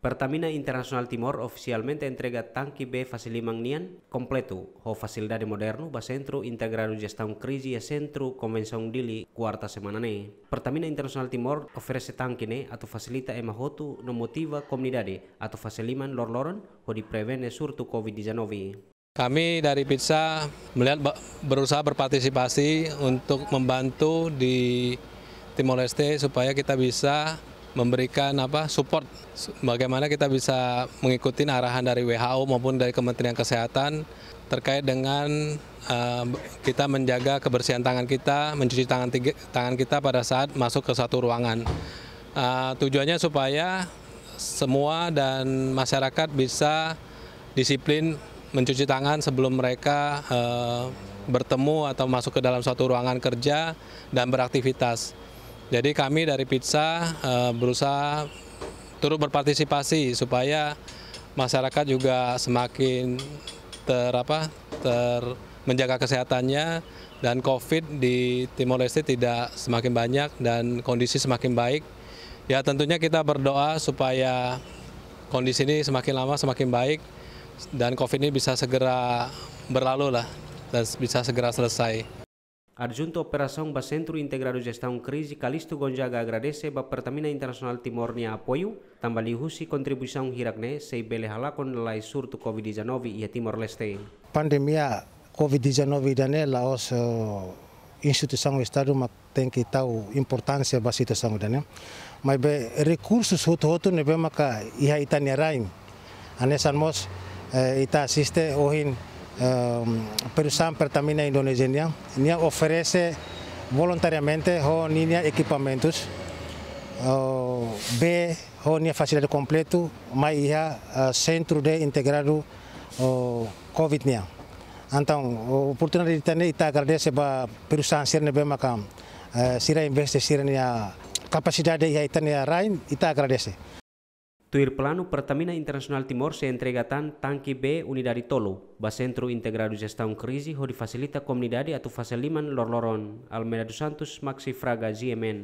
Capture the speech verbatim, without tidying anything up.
Pertamina Internasionál Timor ofisialmente entrega tanke B fase liman nian kompletu, ho fasilidade modernu ba Sentru Integradu Jestaun Krize iha Sentru Konvensaun Dili, kuarta semana ne'e. Pertamina Internasionál Timor oferese tanke ne'e atu fasilita ema hotu no motiva komunidade atu fase liman loroloron hodi prevene surtu covid dezanove. Kami dari PITSA melihat ba-, berusaha berpartisipasi untuk membantu di Timor Leste supaya kita bisa memberikan apa, support, su-, bagaimana kita bisa mengikuti arahan dari W H O maupun dari Kementerian Kesehatan terkait dengan, eh, kita menjaga kebersihan tangan kita, mencuci tangan tiga, tangan kita pada saat masuk ke suatu ruangan. Eh, tujuannya supaya semua dan masyarakat bisa disiplin mencuci tangan sebelum mereka, eh, bertemu atau masuk ke dalam suatu ruangan kerja dan beraktivitas. Jadi kami dari PITSA, eh, berusaha turut berpartisipasi supaya masyarakat juga semakin ter-, apa, ter-, menjaga kesehatannya dan covid di Timor Leste tidak semakin banyak dan kondisi semakin baik. Ya, tentunya kita berdoa supaya kondisi ini semakin lama semakin baik dan covid ini bisa segera berlalu lah dan bisa segera selesai. Adjuntu Operasaun ba Sentru Integradu Jestaun Krize, Calixto Gonzaga, agradese ba Pertamina Internasionál Timor nia apoiu, tanba liuhusi kontribuisaun hirak ne'e sei bele halakon lalais surtu covid dezanove iha Timor-Leste. Pandemia covid dezanove ida-ne'e la'ós, eh, instituisaun Estadu mak tenke tau importánsia ba situasaun ida-ne'e. Maibé rekursus hotu-hotu ne'ebé maka iha ita-nia rain. Hanesan mós, eh, ita asiste ohin, ehm, perusahaan Pertamina Indonesia nian, nia oferese voluntariamente ho ninia ekipamentus, oh, bee ho nia fasilidade kompletu mai iha, eh, Sentru de Integradu, oh, covid nian. Entaun, oportunidade ida-ne'e ita agradese ba perusahaan sira ne'ebé maka, eh, sira investe sira-nia kapasidade iha ita-nia rain, ita agradese. Tuir planu, Pertamina Internasionál Timor sei entrega tan tanke bee unidade tolu ba Sentru Integradu Jestaun Krize hodi fasilita komunidade atu fase liman loroloron. Almeida dos Santos, Maxi Fraga, G M N.